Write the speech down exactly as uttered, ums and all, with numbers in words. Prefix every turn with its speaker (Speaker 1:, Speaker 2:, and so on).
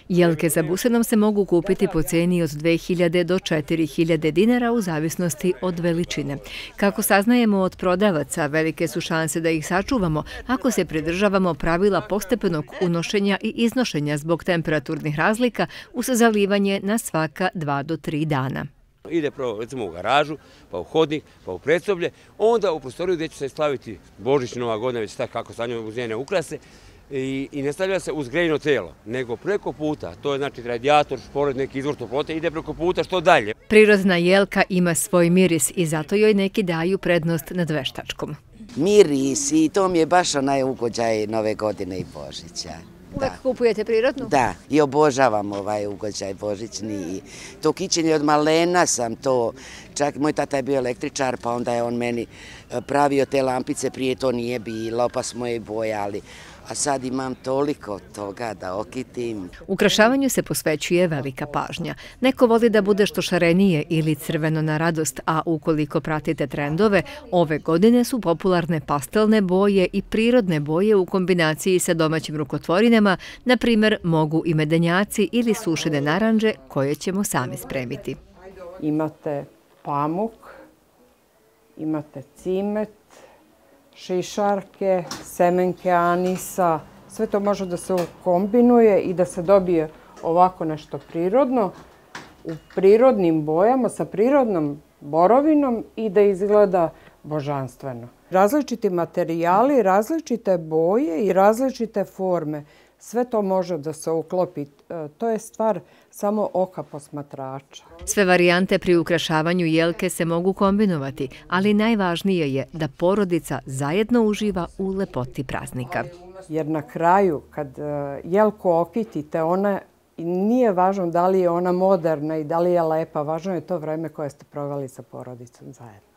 Speaker 1: Jelke za busenom se mogu kupiti po cijeni od dve hiljade do četiri hiljade dinara u zavisnosti od veličine. Kako saznajemo od prodavaca, velike su šanse da ih sačuvamo ako se pridržavamo pravila postepenog unošenja i iznošenja zbog temperaturnih razlika uz zalivanje na svaka dva do tri dana.
Speaker 2: Ide prvo recimo u garažu, pa u hodnik, pa u predsoblje, onda u prostoriju gdje će se slaviti Božić, Nova godina, već tako kako stavljamo uz njene ukrase. I, i ne stavlja se uz grejno telo, nego preko puta, to je znači radijator, špored, neki izvor toplote, ide preko puta što dalje.
Speaker 1: Prirodna jelka ima svoj miris i zato joj neki daju prednost nad veštačkom.
Speaker 3: Miris i to mi je baš onaj ugođaj Nove godine i Božića.
Speaker 1: Uvek kupujete prirodnu?
Speaker 3: Da, i obožavam ovaj ugođaj božićni. I to kićenje od malena sam to, čak moj tata je bio električar, pa onda je on meni pravio te lampice, prije to nije bilo, pa smo je bojali. A sad imam toliko toga da okitim.
Speaker 1: Ukrašavanju se posvećuje velika pažnja. Neko voli da bude što šarenije ili crveno na radost, a ukoliko pratite trendove, ove godine su popularne pastelne boje i prirodne boje u kombinaciji sa domaćim rukotvorinama, na primjer mogu i medenjaci ili sušene naranđe koje ćemo sami spremiti.
Speaker 4: Imate pamuk, imate cimet, šišarke, semenke anisa, sve to može da se kombinuje i da se dobije ovako nešto prirodno, u prirodnim bojama, sa prirodnom borovinom i da izgleda božanstveno. Različiti materijali, različite boje i različite forme, sve to može da se uklopi. To je stvar samo oka posmatrača.
Speaker 1: Sve varijante pri ukrašavanju jelke se mogu kombinovati, ali najvažnije je da porodica zajedno uživa u lepoti praznika.
Speaker 4: Jer na kraju, kad jelku okitite, ona nije važno da li je ona moderna i da li je lepa, važno je to vreme koje ste proveli sa porodicom zajedno.